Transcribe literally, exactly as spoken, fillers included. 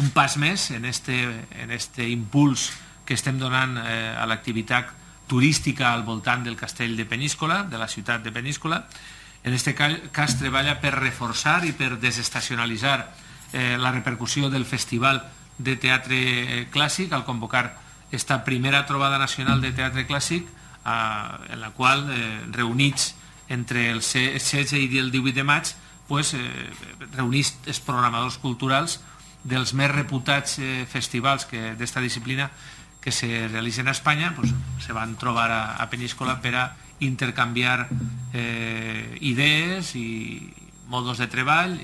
un pas més en aquest impuls que estem donant a l'activitat turística al voltant del castell de Peníscola, de la ciutat de Peníscola. En aquest cas treballa per reforçar i per desestacionalitzar la repercussió del Festival de Teatre Clàssic al convocar esta primera trobada nacional de teatre clàssic en la qual, reunits entre el setze i el divuit de maig, reunits els programadors culturals dels més reputats festivals d'esta disciplina que se realitzen a Espanya, se van trobar a Peníscola per a intercanviar idees i modos de treball.